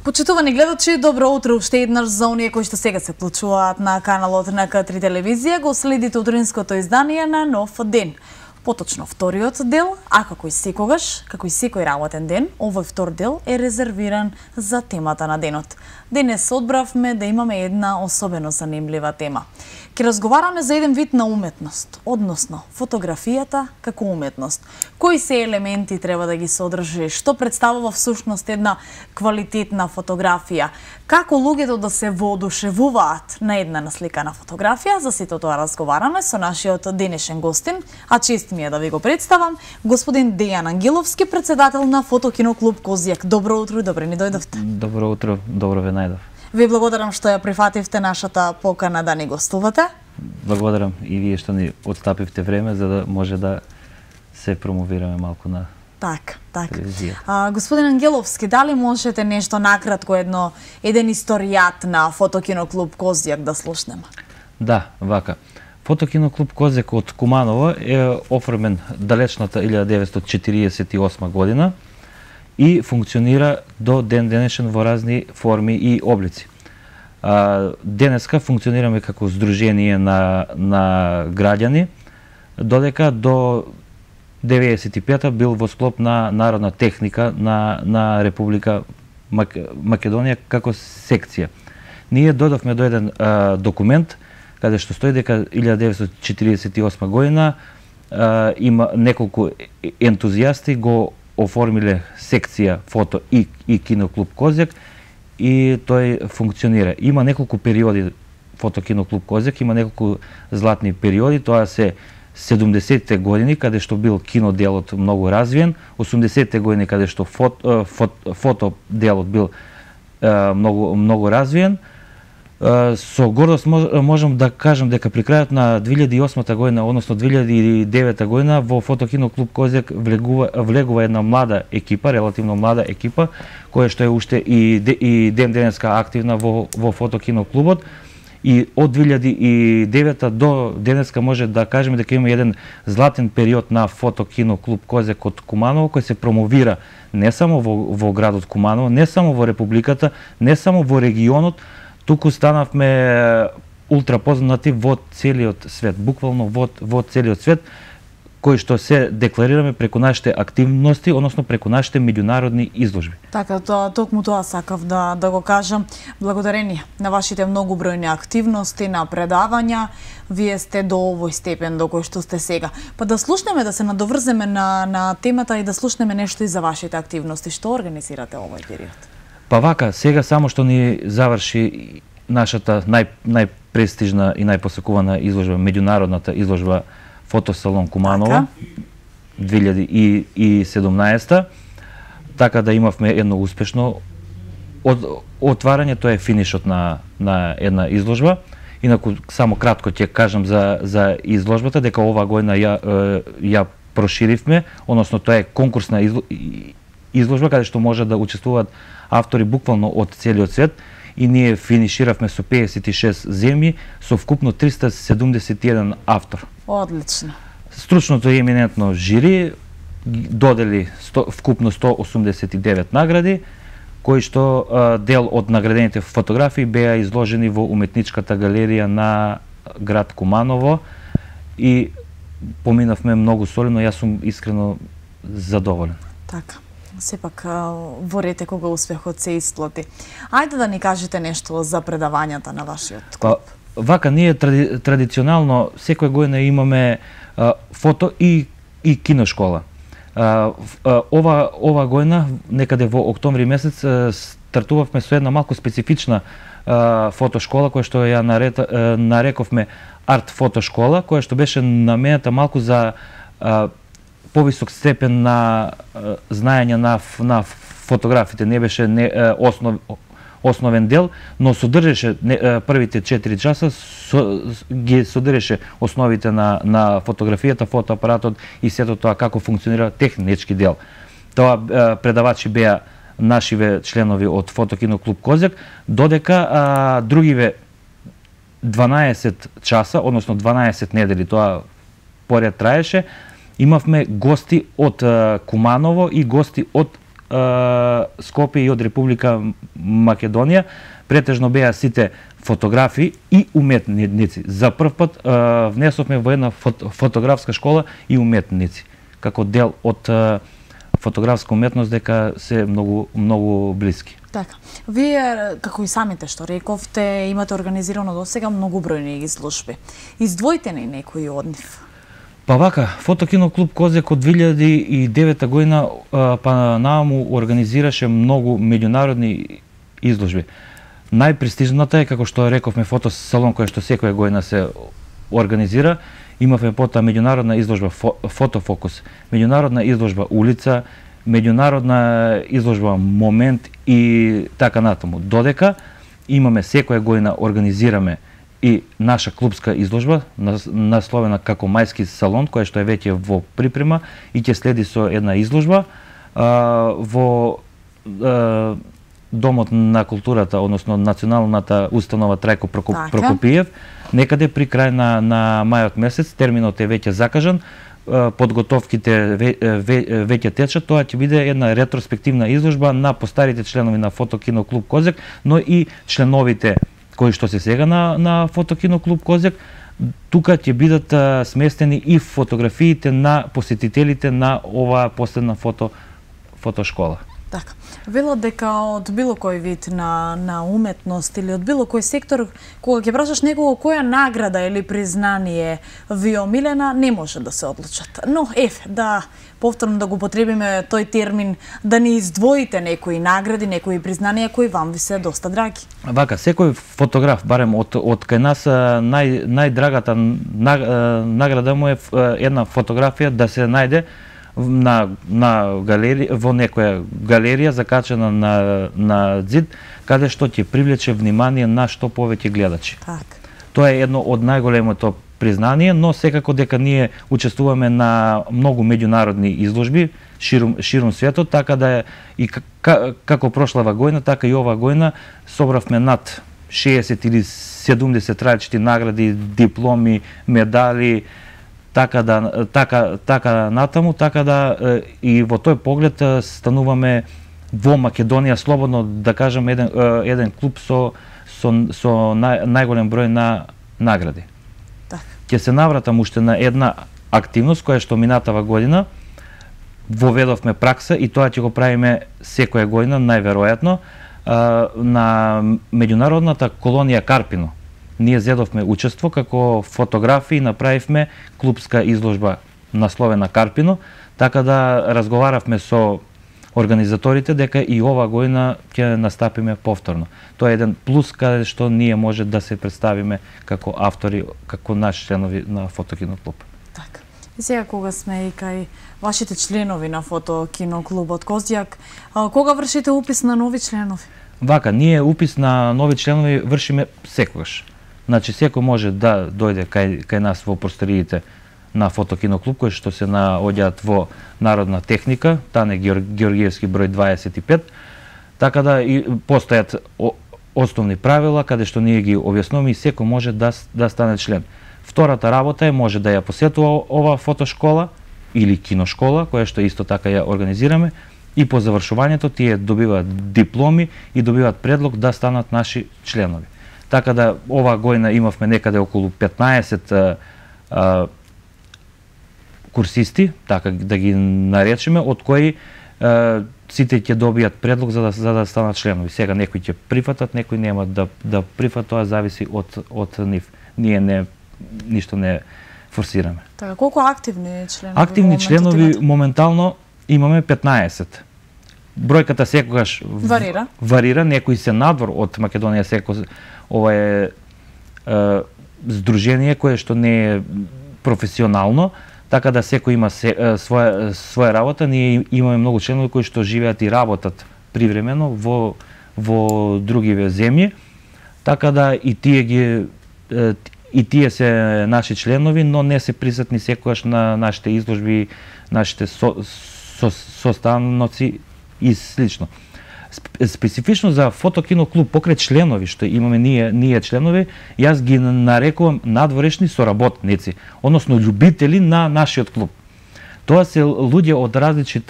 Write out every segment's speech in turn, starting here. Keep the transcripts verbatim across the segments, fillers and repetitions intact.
Почитувани гледачи, добро утро уште еднаш за оние кои што сега се вклучуваат на каналот на К три телевизија. Го следите утринското издание на Нов ден. Поточно вториот дел, а како и секогаш, како и секој работен ден, овој втор дел е резервиран за темата на денот. Денес одбравме да имаме една особено занимлива тема. Ке разговараме за еден вид на уметност, односно фотографијата како уметност. Кои се елементи треба да ги содржи, што представува всушност една квалитетна фотографија, како луѓето да се воодушевуваат на една насликана фотографија. За сето тоа разговараме со нашиот денешен гостин, а чест ми е да ви го представам, господин Дејан Ангеловски, председател на Фотокиноклуб Козјак. Добро утро и добре ни дојдовте. Добро утро, добро ве најдов. Ви благодарам што ја прифативте нашата покана да ни гостувате. Благодарам и вие што ни отстапивте време за да може да се промовираме малку на Так, так. телевизија. А, господин Ангеловски, дали можете нешто накратко, едно, еден историјат на Фотокиноклуб Козјак да слушнеме? Да, вака. Фотокиноклуб Козјак од Куманово е оформен далечната илјада деветстотини четиридесет и осма година и функционира до ден денешен во разни форми и облици. А, денеска функционираме како здружение на, на граѓани, додека до деветдесет и пета бил во склоп на народна техника на, на Република Мак... Македонија како секција. Ние додавме до еден а, документ каде што стои дека илјада деветстотини четиридесет и осма година а, има неколку ентузијасти го оформиле секција фото и, и киноклуб Козјак и тој функционира. Има неколку периоди Фотокиноклуб Козјак, има неколку златни периоди, тоа се седумдесетте години каде што бил киноделот многу развиен, осумдесетте години каде што фото, фото, фото делот бил многу многу развиен. Со гордост можам да кажам дека при крајот на две илјади и осма година, односно две илјади и девета година, во Фотокиноклуб Козјак влегува, влегува една млада екипа, релативно млада екипа, која што е уште и, и ден денеска активна во, во Фотокиноклубот. И од две илјади и девета до денеска може да кажеме дека има еден златен период на Фотокиноклуб Козјак од Куманово, кој се промовира не само во, во градот Куманово, не само во Републиката, не само во регионот, туку станавме ултра познати во целиот свет, буквално во, во целиот свет, кои што се декларираме преку нашите активности, односно преку нашите меѓународни изложби. Така, тоа, токму тоа сакав да, да го кажам. Благодарение на вашите многобројни активности, на предавања, вие сте до овој степен до кој што сте сега. Па да слушнеме, да се надоврземе на, на темата и да слушнеме нешто и за вашите активности. Што организирате овој период? Па вака, сега само што ни заврши нашата нај, најпрестижна и најпосекувана изложба, меѓународната изложба Фотосалон Куманово, две илјади и седумнаесета, така да имавме едно успешно од, отварање, тоа е финишот на, на една изложба. Инаку, само кратко ќе кажам за, за изложбата, дека ова година ја, ја проширивме, односно тоа е конкурсна изложба, каде што може да учествуваат автори буквално од целиот свет, и ние финиширавме со пеесет и шест земји, со вкупно триста седумдесет и еден автор. Одлично. Стручното и еминентно жири додели сто, вкупно сто осумдесет и девет награди, кои што а, дел од наградените фотографии беа изложени во уметничката галерија на град Куманово и поминавме многу солидно, јас сум искрено задоволен. Така. Сепак во рете кога успехот се исплати. Ајде да ни кажете нешто за предавањата на вашиот клуб. Па, вака, ние тради, традиционално секоја година имаме а, фото и, и киношкола. А, а, ова, ова година, некаде во октомври месец, стартувавме со една малку специфична а, фотошкола, која што ја наред, а, нарековме арт фото школа, која што беше наменета малку за а, повисок степен на а, знаење на, на фотографите. Не беше не, а, основ, основен дел, но содржеше не, а, првите четири часа со, ги содржеше основите на, на фотографијата, фотоапаратот и сето тоа како функционира технички дел. Тоа а, предавачи беа нашиве членови од Фотокино клуб Козјак, додека а, другиве дванаесет часа, односно дванаесет недели, тоа поред траеше, имавме гости од а, Куманово и гости од а, Скопје и од Република Македонија. Претежно беа сите фотографи и уметници. За прв пат а, внесовме во една фото, фотографска школа и уметници, како дел од а, фотографска уметност, дека се многу многу блиски. Така. Вие, како и самите што рековте, имате организирано досега многобројни изложби. Издвојте ни некои од нив. Па вака, Фотокино клуб Козјак од две илјади и девета година па нааму организираше многу меѓународни изложби. Најпрестижната е, како што рековме, фотосалон кој што секоја година се организира. Имавме потоа меѓународна изложба Фотофокус, меѓународна изложба Улица, меѓународна изложба Момент и така натаму. Додека имаме секоја година организираме и наша клубска изложба насловена како Мајски салон, која што е веќе во припрема и ќе следи со една изложба а, во а, Домот на културата, односно Националната установа Трајко Прокопиев, некаде при крај на, на мајот месец. Терминот е веќе закажан, подготовките ве, ве, веќе течат. Тоа ќе биде една ретроспективна изложба на постарите членови на Фотокино клуб Козјак, но и членовите кои што се сега на, на Фотокино клуб Козјак. Тука ќе бидат а, сместени и фотографиите на посетителите на оваа последна фото фотошкола. Така. Велат дека од било кој вид на, на уметност или од било кој сектор, кога ќе прашаш некого која награда или признание ви омилена, не може да се одлучат. Но, ев, да повторно да го потребиме тој термин, да ни издвоите некои награди, некои признанија кои вам ви се доста драги. Вака, секој фотограф, барем од, од кај нас, нај, најдрагата награда му е една фотографија да се најде на на галерија, во некоја галерија закачена на на ѕид, каде што ќе привлече внимание на што повеќе гледачи. Так. Тоа е едно од најголемото признание, но секако дека ние учествуваме на многу меѓународни изложби ширум ширум светот, така да и како прошлава година, така и оваа година собравме над шеесет или седумдесет различити награди, дипломи, медали, така да така така натаму, така да и во тој поглед стануваме во Македонија слободно да кажам еден еден клуб со со со нај, најголем број на награди. Так. Ќе се навратам уште на една активност која што минатава година воведовме пракса и тоа ќе го правиме секоја година најверојатно на меѓународната колонија Карпино. Ние зедовме учество како фотографи и направивме клубска изложба насловена Карпино, така да разговаравме со организаторите дека и ова година ќе настапиме повторно. Тоа е еден плюс каде што ние може да се представиме како автори, како наши членови на Фотокино клуб. Така. И сега кога сме и кај вашите членови на Фотокино клубот Козјак, кога вршите упис на нови членови? Вака, ние упис на нови членови вршиме секогаш. Значи, секој може да дојде кај, кај нас во просториите на Фотокино клуб, кои што се наоѓаат во Народна техника, Тане Георгиевски број дваесет и пет, така да и постојат основни правила, каде што ние ги објаснуваме и секој може да, да стане член. Втората работа е може да ја посетува ова фотошкола или киношкола, која што исто така ја организираме, и по завршувањето тие добиваат дипломи и добиваат предлог да станат наши членови. Така да оваа година имавме некаде околу петнаесет а, а, курсисти, така да ги наречеме, од кои а, сите ќе добијат предлог за да, за да станат членови. Сега некои ќе прифатат, некои нема да да прифатат, тоа зависи од од нив. Ние не ништо не форсираме. Така, колку активни членови? Активни членови моментално имаме петнаесет. Бројката секогаш варира. Варира, некои се надвор од Македонија, секој ова е, е здружение кое што не е професионално, така да секој има се, своја своја работа. Ние имаме многу членови кои што живеат и работат привремено во во другиве земји, така да и тие ги и тие се наши членови, но не се присутни секогаш на нашите изложби, нашите со, со, состаноци и слично. Специфично за фотокино клуб покрај членови што имаме ние ние членови, јас ги нарекувам надворешни соработници, односно љубители на нашиот клуб. Тоа се луѓе од различит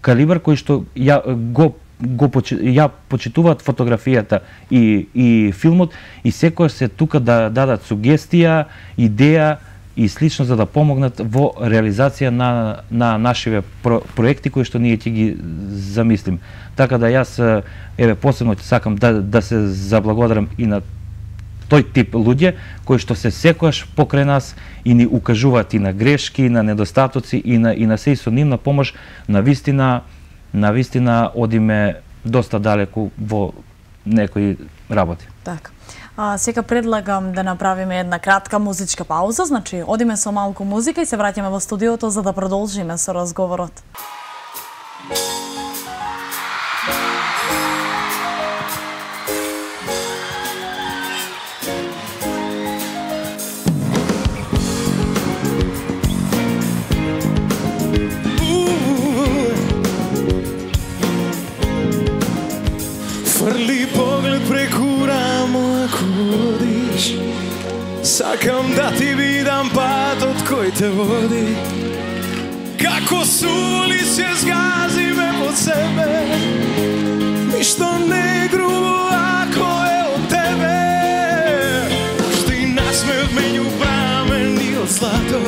калибар кои што ја го го ја почитуваат фотографијата и и филмот и секојаш се тука да дадат сугестија, идеја и слично за да помогнат во реализација на на нашиве про, проекти кои што ние ќе ги замислим. Така да јас еве посебно ќе сакам да да се заблагодарам и на тој тип луѓе кои што се секојаш покрај нас и ни укажуваат и на грешки, и на недостатоци и на и на се и со нивна помош на вистина на вистина одиме доста далеку во некои работи. Така. А, сега предлагам да направиме една кратка музичка пауза, значи одиме со малку музика и се враќаме во студиото за да продолжиме со разговорот. Фрли поглед преку рамо ако одиш, сакам да ти видам патот кој те води. Како сули се згазиме под себе, ништо не грубо ако е од тебе. Што и насмеот меѓу прамени од злато,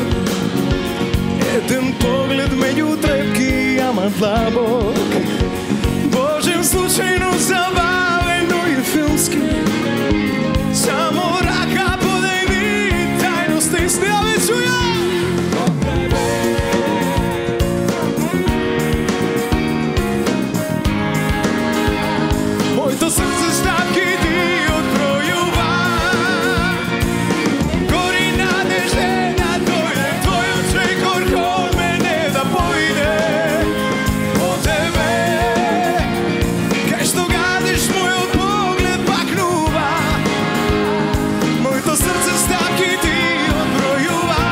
еден поглед меѓу трепки, ама длабок. Божем случајно забавено и филмски, само рака подејни тајно стисни, а ве чуја. Моето срце стапки ти одбројува, гори надеждена дојде, твојот чекор кон мене да појде. По тебе, кај што гадиш мојот поглед пакнува, моето срце стапки ти одбројува,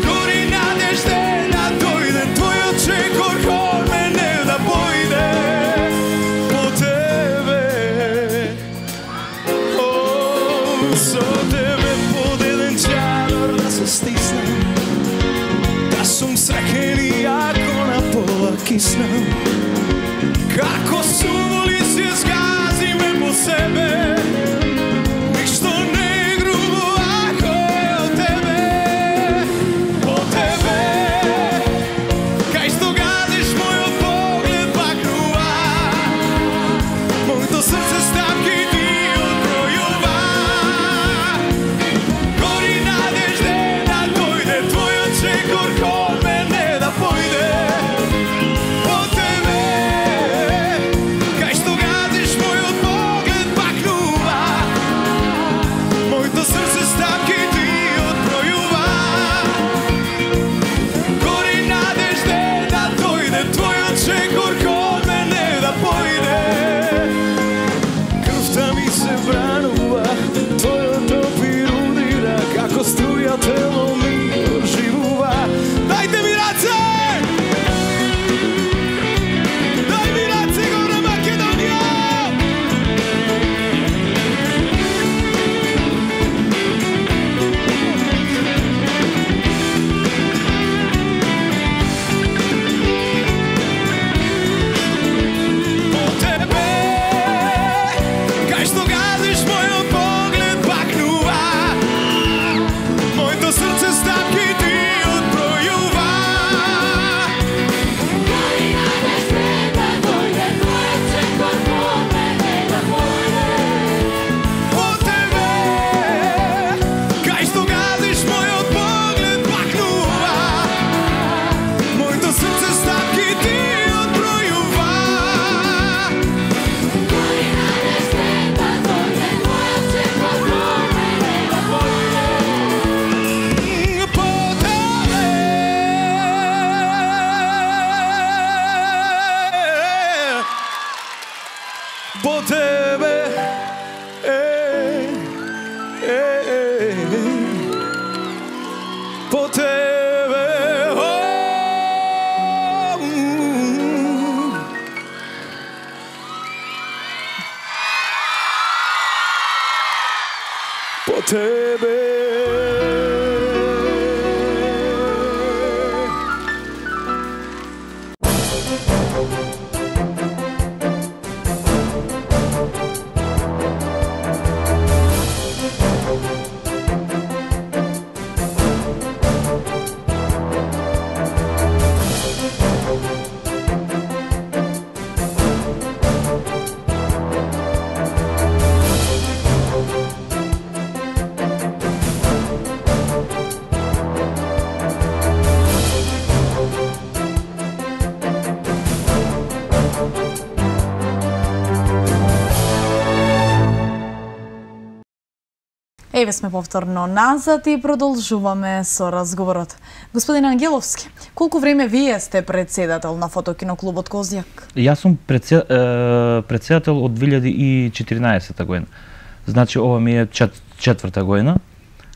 гори надеждена дојде, твојот чекор кон мене да појде. Со тебе под еден чадор да се стиснем, да сум среќен и ако на пола киснем. Како сули се згазиме по себе, ништо не е грубо ако е од тебе. По тебе, кај што гадиш мојот поглед пакнува, моето срце стапки ти одбројува, гори надеждена дојде, твојот чекор кон мене да појде. По тебе, кај што гадиш мојот поглед пакнува, моето срце стапки ти одбројува, гори надеждена дојде, твојот чекор кон мене да појде. Крвта ми се бранува, твојот допир удира, како струја тело ми оживува. Дајте ми раце! Дај ми раце, горна Македонија! По тебе, кај што гадиш мојот поглед пакнува, моето срце по тебе. По тебе. Еве сме повторно назад и продолжуваме со разговорот. Господин Ангеловски, колку време вие сте председател на фотокиноклубот Козјак? Јас сум предсе, е, председател од две илјади и четиринаесета година. Значи ова ми е чет, четврта година.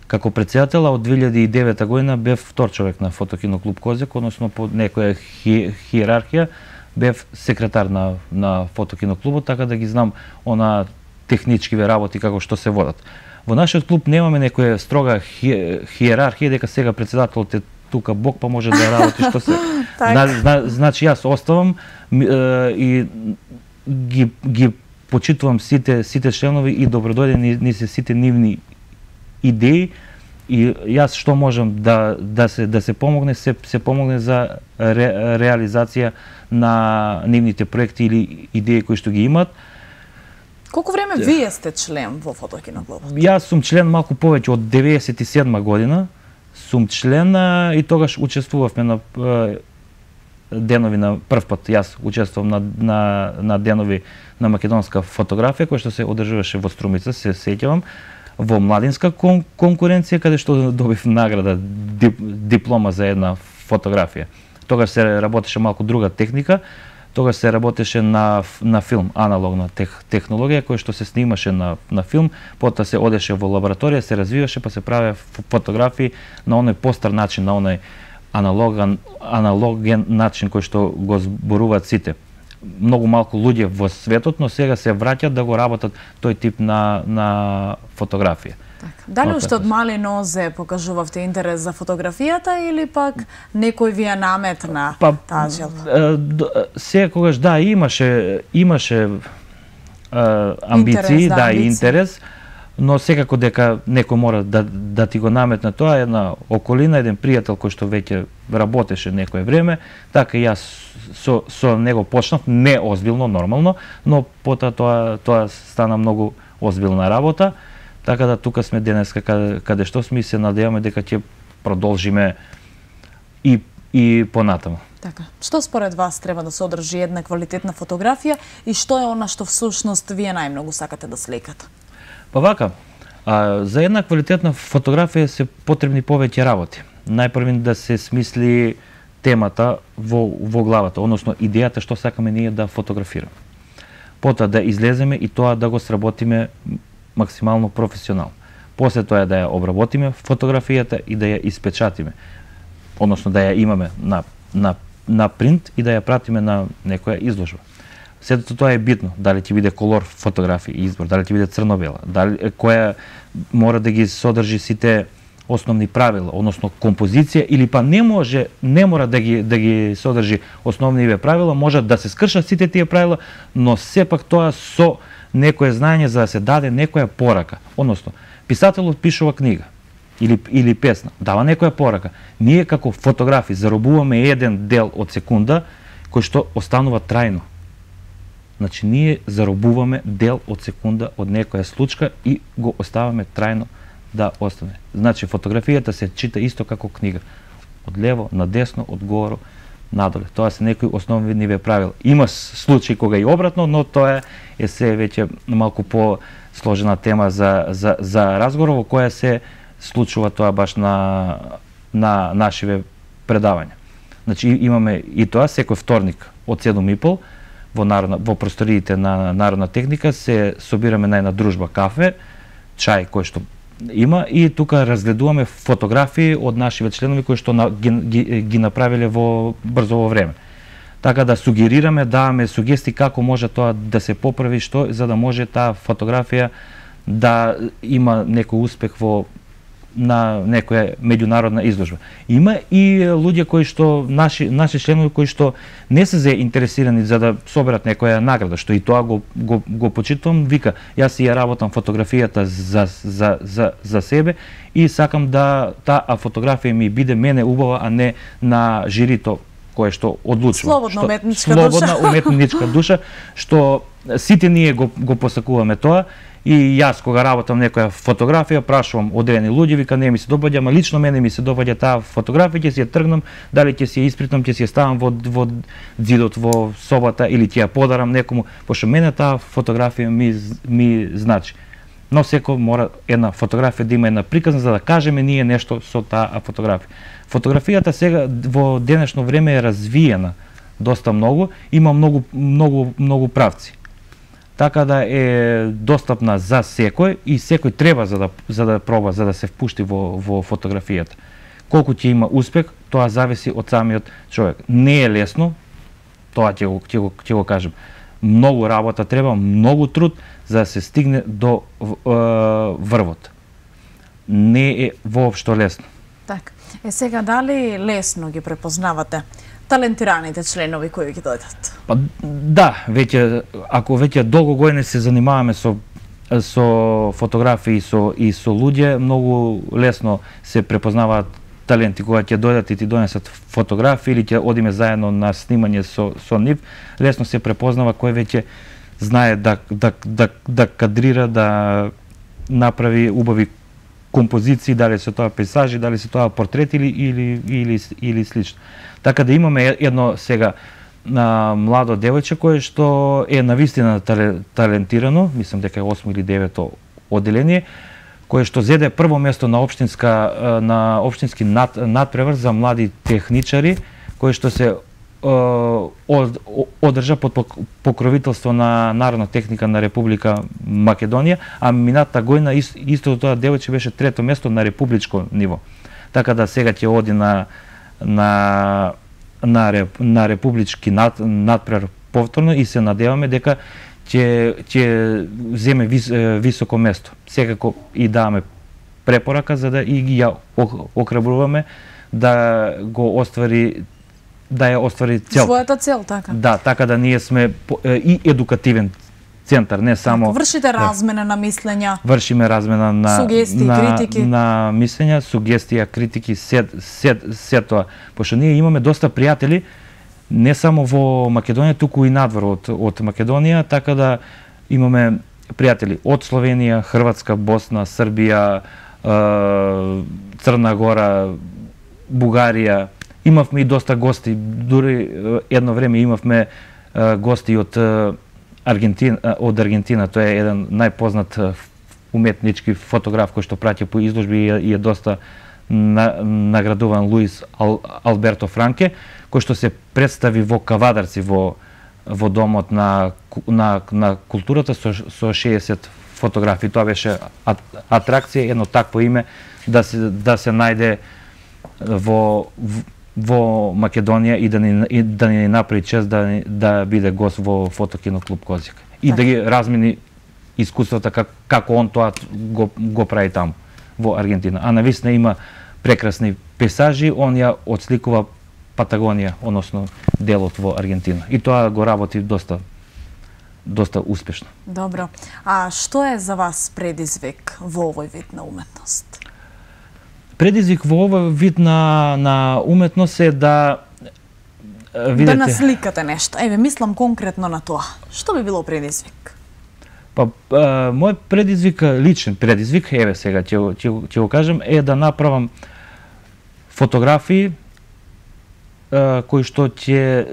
Како председател, а од две илјади и девета година бев втор човек на фотокиноклуб Козјак, односно по некоја хи, хиерархија бев секретар на на фотокиноклубот, така да ги знам она техничкиве работи како што се водат. Во нашиот клуб немаме некоја строга хи, хиерархија дека сега председателот е тука Бог па може да работи што се. Зна, зна, значи јас оставам е, и ги ги почитувам сите сите членови и добродојде ни, ни се сите нивни идеи и јас што можам да да се да се помогне се се помогне за ре, реализација на нивните проекти или идеи кои што ги имаат. Колку време вие сте член во фотокиноклубот? Јас сум член малку повеќе од деветдесет и седма година. Сум член и тогаш учествувавме на денови на прв пат. Јас учествувам на на на денови на македонска фотографија која што се одржуваше во Струмица, се сеќавам, во младинска кон, конкуренција каде што добив награда дип, диплома за една фотографија. Тогаш се работеше малку друга техника. Тогаш се работеше на на филм, аналогна тех, технологија која што се снимаше на на филм, потоа се одеше во лабораторија, се развиваше, па се правеа фотографии на оној постар начин, на оној аналоган аналоген начин кој што го зборуваат сите. Многу малку луѓе во светот, но сега се враќаат да го работат тој тип на на фотографија. Дали уште од мали нозе покажувавте интерес за фотографијата или пак некој ви ја наметна па, таа желба? Секогаш да имаше имаше а, амбиции, интерес, да, да амбиции. И интерес, но секако дека некој мора да да ти го наметне тоа, една околина, еден пријател кој што веќе работеше некое време, така јас со со него почнав не озбилно, нормално, но потоа тоа тоа стана многу озбилна работа. Така да тука сме денеска каде, каде што сме и се надеваме дека ќе продолжиме и и понатаму. Така. Што според вас треба да се одржи една квалитетна фотографија и што е она што всушност вие најмногу сакате да сликате? Па вака, а, за една квалитетна фотографија се потребни повеќе работи. Најпрво да се смисли темата во во главата, односно идејата што сакаме ние да фотографираме. Потоа да излеземе и тоа да го сработиме максимално професионално. После тоа е да ја обработиме фотографијата и да ја испечатиме. Односно да ја имаме на на на принт и да ја пратиме на некоја изложба. Сето тоа е битно, дали ќе биде колор фотографија избор, дали ќе биде црно-бела, дали која мора да ги содржи сите основни правила, односно композиција, или па не може, не мора да ги да ги содржи основниве правила, може да се скршат сите тие правила, но сепак тоа со некое знаење за да се даде некоја порака. Односно, писателот пишува книга или или песна, дава некоја порака. Ние како фотографи заробуваме еден дел од секунда кој што останува трајно. Значи ние заробуваме дел од секунда од некоја случка и го оставаме трајно да остане. Значи фотографијата се чита исто како книга. Од лево на десно, од горе надоле. Тоа се некои основни ниве правила. Има случаи кога и обратно, но тоа е се веќе малку по сложена тема за за за разговор во која се случува тоа баш на на нашиве предавања. Значи имаме и тоа секој вторник од седум и пол во народна во просториите на Народна техника се собираме на една дружба кафе, чај кој што има и тука разгледуваме фотографии од нашиве членови кои што на, ги, ги, ги направиле во брзо во време. Така да сугерираме, даваме сугестии како може тоа да се поправи, што за да може таа фотографија да има некој успех во на некоја меѓународна изложба. Има и луѓе кои што наши наши членови кои што не се заинтересирани за да соберат некоја награда, што и тоа го го, го почитувам, вика, јас ја работам фотографијата за за за за себе и сакам да таа фотографија ми биде мене убава, а не на жирито кое што одлучува. Слободна што, уметничка слободна душа. уметничка душа, што сите ние го го посакуваме тоа. И јас кога работам некоја фотографија, прашувам одредени луѓе, вика не ми се допаѓа, ама лично мене ми се допаѓа таа фотографија, ќе си ја тргнам, дали ќе си ја испритам, ќе си ја ставам во во ѕидот во собата или ќе ја подарам некому, пошто мене таа фотографија ми ми значи. Но секој мора една фотографија да има една приказна за да кажеме ние нешто со таа фотографија. Фотографијата сега во денешно време е развиена доста многу, има многу многу многу правци. Така да е достапна за секој и секој треба за да за да проба, за да се впушти во во фотографијата. Колку ќе има успех, тоа зависи од самиот човек. Не е лесно, тоа ќе го ќе го ќе го кажам. Многу работа треба, многу труд за да се стигне до е, врвот. Не е воопшто лесно. Така. Е сега дали лесно ги препознавате талентираните членови кои ги дојдат? Па да, веќе ако веќе долго години се занимаваме со со фотографии со и со луѓе, многу лесно се препознаваат таленти кога ќе дојдат и ти донесат фотографии или ќе одиме заедно на снимање со со нив, лесно се препознава кој веќе знае да да да да кадрира, да направи убави композиции, дали се тоа пейзажи, дали се тоа портрети или или или, или слично. Така да имаме едно сега на младо девојче кое што е навистина талентирано, мислам дека е осмо или девето одделение, кое што зеде прво место на општинска на општински над, надпревар за млади техничари, кој што се од, одржа под покровителство на Народна техника на Република Македонија, а мината година истото тоа девојче беше трето место на републичко ниво. Така да сега ќе оди на на на, реп, на републички над, надпревар повторно и се надеваме дека ќе ќе земе вис, високо место. Секако и даваме препорака за да и ги ја охрабруваме да го оствари да ја оствари цел. Својата цел, така. Да, така да ние сме и едукативен центар, не само вршите размена да, на мислења. Вршиме размена на сугестии, на, критики. На мислења, сугестија, критики, се се се тоа. Пошто ние имаме доста пријатели не само во Македонија, туку и надвор од од Македонија, така да имаме пријатели од Словенија, Хрватска, Босна, Србија, Црна Гора, Бугарија. Имавме и доста гости, дури едно време имавме гости од Аргентина, од Аргентина. Тој е еден најпознат уметнички фотограф кој што праќа по изложби и е доста наградуван, Луис Ал, Алберто Франке, кој што се представи во Кавадарци во во домот на на на културата со со шеесет фотографии. Тоа беше атракција, едно такво име да се да се најде во во Македонија и да ни и да ни направи чест да да биде гост во Фотокино клуб Козјак и так. Да ги размени искуствата как, како он тоа го го прави таму во Аргентина. А навистина има прекрасни пейзажи, он ја отсликува Патагонија, односно делот во Аргентина. И тоа го работи доста доста успешно. Добро. А што е за вас предизвик во овој вид на уметност? Предизвик во овој вид на на уметност е да видите да насликате нешто. Еве мислам конкретно на тоа. Што би било предизвик? Па а, мој предизвик, личен предизвик, еве сега ќе ќе ќе го кажам, е да направам фотографии а, кои што ќе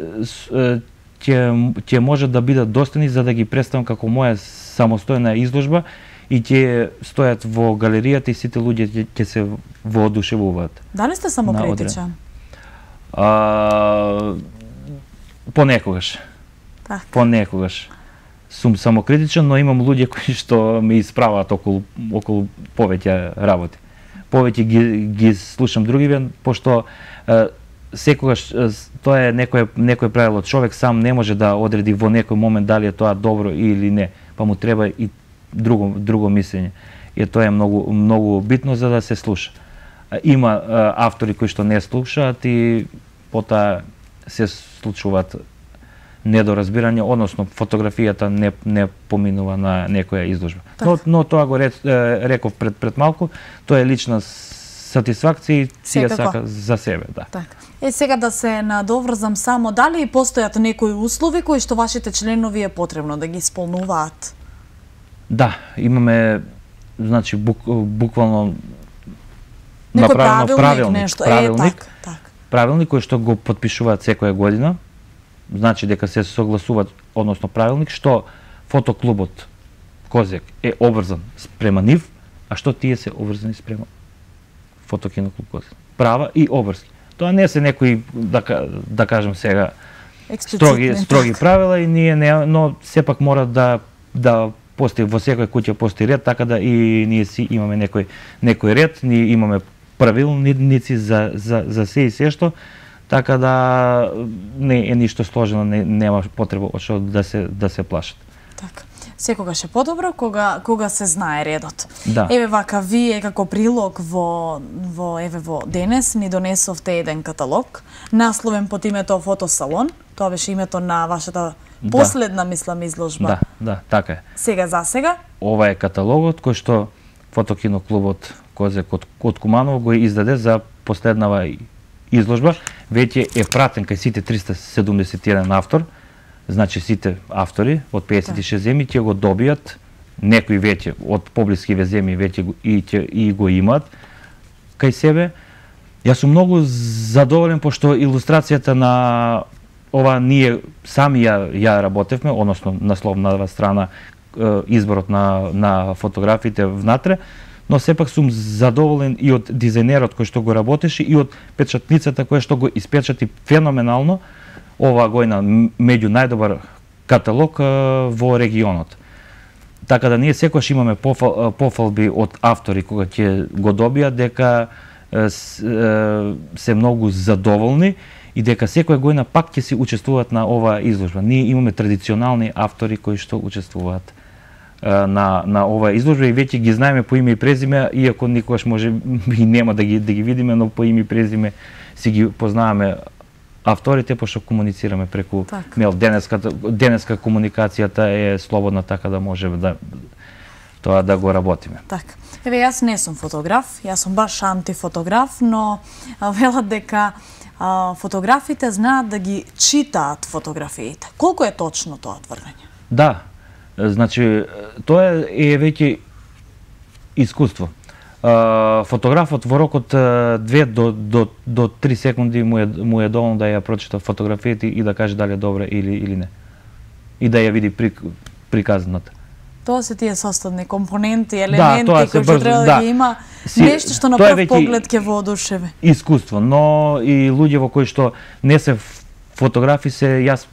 ќе ќе може да бидат достани за да ги представам како моја самостојна изложба и ќе стојат во галеријата и сите луѓе ќе се воодушевуваат. Дали сте самокритичен? А, понекогаш. Так. Понекогаш. сум самокритичен, но имам луѓе кои што ме исправаат околу околу повеќе работи. Повеќе ги ги слушам другиве, пошто е, секогаш е, тоа е некое некое правило, човек сам не може да одреди во некој момент дали е тоа добро или не, па му треба и друго друго мислење. И тоа е многу многу битно за да се слуша. Има е, автори кои што не слушаат и потоа се случуваат недоразбирање, односно фотографијата не не поминува на некоја изложба. Так. Но но тоа го рек, реков пред пред малку, тоа е лична сатисфакција и си ја сака за себе, да. Так. Е сега да се надоврзам само, дали постојат некои услови кои што вашите членови е потребно да ги исполнуваат? Да, имаме значи бук, буквално некој направено правилник, нешто. правилник, е, так, так. правилник кој што го потпишуваат секоја година. Значи дека се согласуваат, односно правилник, што фотоклубот Козјак е обврзан спрема нив, а што тие се обврзани спрема фотокиноклуб Козјак. Права и обврски. Тоа не се некои, да, да кажем сега, строги, строги правила, и ние не, но сепак мора да, да постои во секоја куќа постои ред, така да и ние си имаме некој, некој ред, ние имаме правилници за, за, за се и се што, така да не е ништо сложено, не, нема потреба од што да се да се плашат. Така. Секогаш е подобро кога кога се знае редот. Да. Еве вака вие како прилог во во еве во денес ни донесовте еден каталог, насловен под името Фотосалон. Тоа беше името на вашата последна, да. мислам, изложба. Да, да, така е. Сега за сега ова е каталогот кој што фотокиноклубот Козјак од, од Куманово го издаде за последнава изложба. Веќе е пратен кај сите триста седумдесет и еден автор, значи сите автори од педесет и шест земји ќе го добијат, некои веќе од поблискиве земји веќе и, ќе, и го имаат кај себе. Јас сум многу задоволен пошто илустрацијата на ова ние сами ја, ја работевме, односно насловната страна, изборот на, на фотографиите внатре, но сепак сум задоволен и од дизајнерот кој што го работеше и од печатницата која што го испечати феноменално оваа гојна меѓу најдобар каталог во регионот. Така да ние секогаш имаме пофал, пофалби од автори кога ќе го добијат дека се многу задоволни и дека секоја гојна пак ќе се учествуваат на оваа изложба. Ние имаме традиционални автори кои што учествуваат на на оваа изложба и веќе ги знаеме по име и презиме, иако никогаш може и нема да ги да ги видиме, но по име и презиме си ги познаваме авторите, пошто комуницираме преку так. мејл. Денеска денеска комуникацијата е слободна, така да може да тоа да го работиме. Така. Еве јас не сум фотограф, јас сум баш антифотограф, но велат дека а, фотографите знаат да ги читаат фотографиите. Колку е точно тоа тврдење? Да. Значи, тоа е веќе искуство. Фотографот во рокот две до до до три секунди му е му е доволно да ја прочита фотографијата и да каже дали е добра или или не. И да ја види при, приказната. Тоа се тие составни компоненти, елементи да, кои што треба да, да ги има, си, нешто што на прв поглед ќе воодушеви. Искуство, но и луѓе во кои што не се фотографи се, јас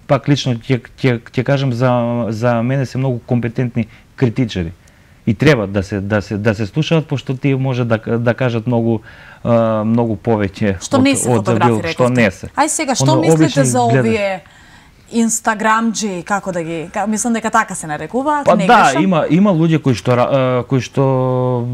пак лично ќе ќе ќе кажам за за мене се многу компетентни критичари. И треба да се да се да се слушаат, пошто тие може да да кажат многу uh, многу повеќе што не се фотографи, што не се. Ај сега што Оно, мислите за овие инстаграмџи, како да ги, мислам дека така се нарекуваат, па, не да, грешам? има има луѓе кои што кои што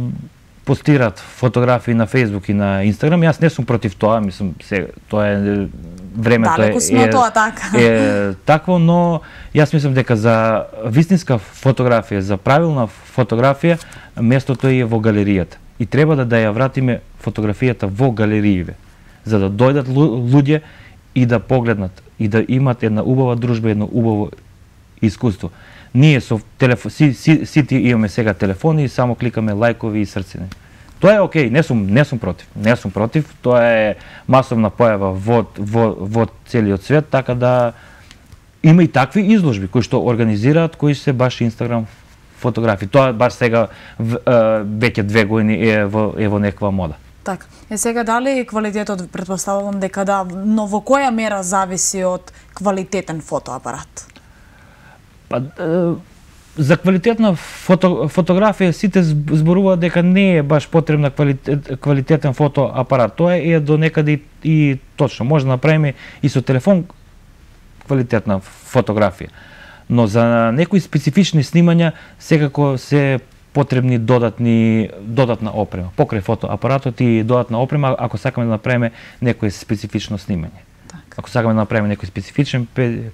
постираат фотографии на Facebook и на Instagram. Јас не сум против тоа, мислам се тоа е времето е, е, тоа, така. е такво, но јас мислам дека за вистинска фотографија, за правилна фотографија, местото е во галеријата. И треба да, да ја вратиме фотографијата во галериите, за да дојдат луѓе и да погледнат, и да имат една убава дружба, едно убаво искуство. Ние со телефон, си, си, сите имаме сега телефони и само кликаме лајкови и срцини. Тоа е окей, не сум не сум против. Не сум против, тоа е масовна појава во во во целиот свет, така да има и такви изложби кои што организираат, кои се баш Инстаграм фотографии. Тоа баш сега веќе две години е во е во некаква мода. Така. Е сега дали квалитетот, претпоставувам дека да, но во која мера зависи од квалитетен фотоапарат? Па, е, за квалитетна фото, фотографија сите зборуваат дека не е баш потребна квалитет, квалитетен фотоапарат. Тоа е до некаде и, и точно. Може да направиме и со телефон квалитетна фотографија. Но за некои специфични снимања секако се потребни додатни додатна опрема. Покрај фотоапаратот и додатна опрема ако сакаме да направиме некое специфично снимање. Так. Ако сакаме да направиме некој специфичен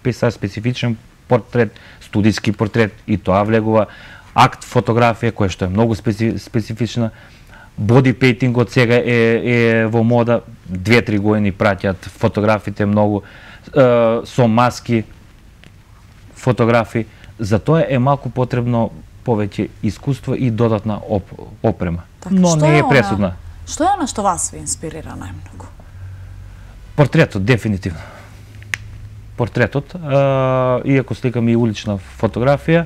пейзаж, специфичен портрет, студиски портрет, и тоа влегува акт фотографија која што е многу специ, специфична. Боди пейтингот сега е, е во мода, две-три години праќаат фотографите многу е, со маски фотографии. За тоа е малку потребно повеќе искуство и додатна оп, опрема. Так, но не е она- пресудна. Што е она што вас ви инспирира најмногу? Портретот, дефинитивно. Портретот, е, иако сликам и улична фотографија,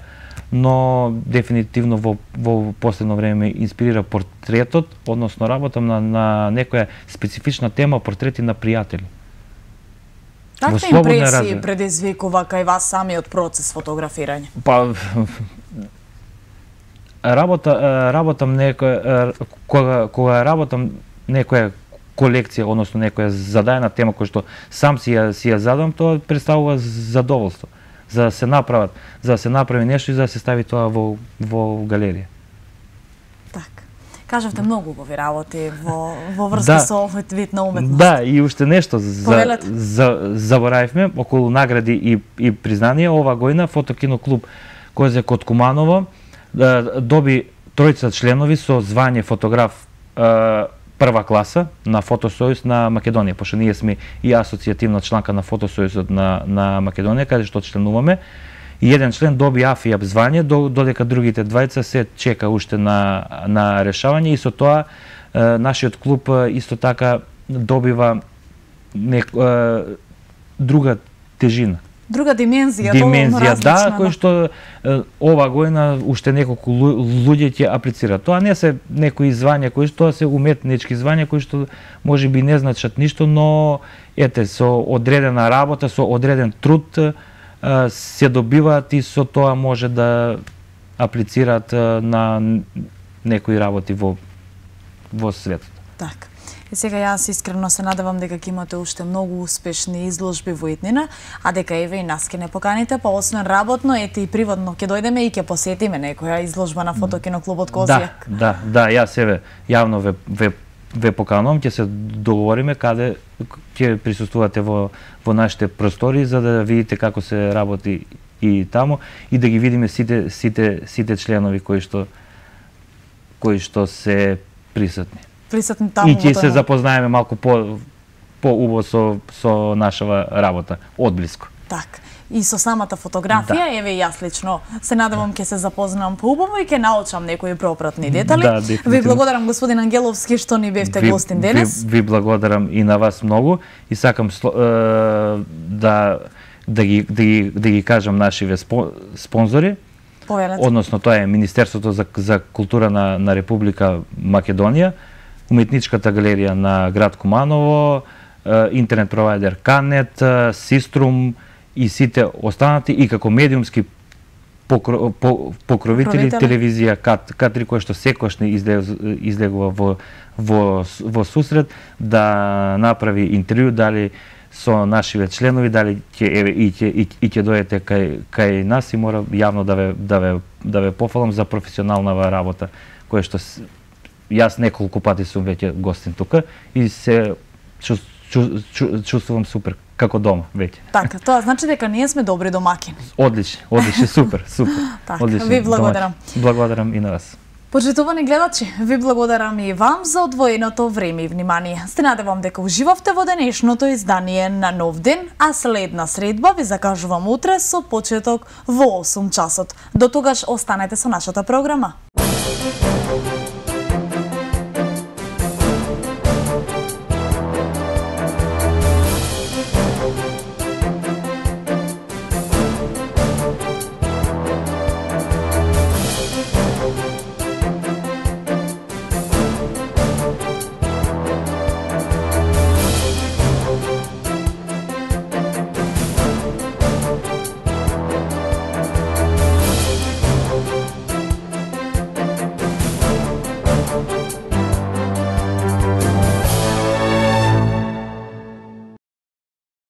но дефинитивно во, во последно време ме инспирира портретот, односно работам на, на некоја специфична тема, портрети на пријатели. Какви слободна импресии размена. предизвикува кај вас самиот процес фотографирање? Па работа работам некоја кога кога работам некоја колекција, односно некоја зададена тема која што сам си ја си ја задам, тоа представува задоволство. За да се направат, за да се направи нешто и за да се стави тоа во во галерија. Так. Кажавте многу убави работи во во врска Да. со овој вид на уметност. Да, и уште нешто за, Повелете. за заборавивме околу награди и и признанија. Ова година фотокиноклуб Козјак од Куманово да, доби тројца членови со звање фотограф е, прва класа на Фотосојуз на Македонија, пошто ние сме и асоцијативна чланка на Фотосојузот на на Македонија, каде што членуваме. И еден член доби АФИАП звање, додека другите двајца се чека уште на на решавање, и со тоа е, нашиот клуб е, исто така добива нек, е, друга тежина. Друга димензија, Димензија, различна, да, кој што е, ова година уште неколку лу- луѓе ќе аплицираат. Тоа не се некои звања кои што тоа се уметнички звања кои што можеби не значат ништо, но ете со одредена работа, со одреден труд е, се добиваат и со тоа може да аплицираат е, на некои работи во во светот. Так. И сега јас искрено се надевам дека ќе имате уште многу успешни изложби во иднина, а дека еве и нас ќе не поканите, па освен работно, ете и приватно ќе дојдеме и ќе посетиме некоја изложба на фотокиноклубот Козјак. Да, да, да, јас еве јавно ве ве ве поканувам, ќе се договориме каде ќе присуствувате во во нашите простори за да видите како се работи и таму и да ги видиме сите сите сите членови кои што кои што се присутни. Присутни таму. И ќе во се тој запознаеме малку по поубаво со со нашава работа одблиску. Так. И со самата фотографија, Да. еве и јас лично се надевам ќе се запознам поубаво и ќе научам некои пропратни детали. Да, дефинитивно. Ви благодарам господин Ангеловски што ни бевте Ви- гостин денес. Ви, ви благодарам и на вас многу и сакам сло- е, да да ги да ги да ги кажам нашиве спо, спонзори. Повелете. Односно тоа е Министерството за за култура на на Република Македонија, Уметничката галерија на град Куманово, е, интернет провайдер Канет, е, Систрум и сите останати, и како медиумски покро, по, покровители Покровители. телевизија Кат Катри која што секогаш не излез- излегува во во во сусрет да направи интервју дали со нашиве членови, дали ќе еве и ќе и, и ќе дојдете кај кај нас, и мора јавно да ве да ве да ве пофалам за професионалнава работа која што с- јас неколку пати сум веќе гостин тука и се чу, чу, чу, чувствувам супер како дома веќе. Така, тоа значи дека ние сме добри домакини. Одлично, одлично, супер, супер. Така, Одлично, ви благодарам. домаќин. Благодарам и на вас. Почитувани гледачи, ви благодарам и вам за одвоеното време и внимание. Се надевам дека уживавте во денешното издание на Нов ден, а следна средба ви закажувам утре со почеток во осум часот. До тогаш останете со нашата програма.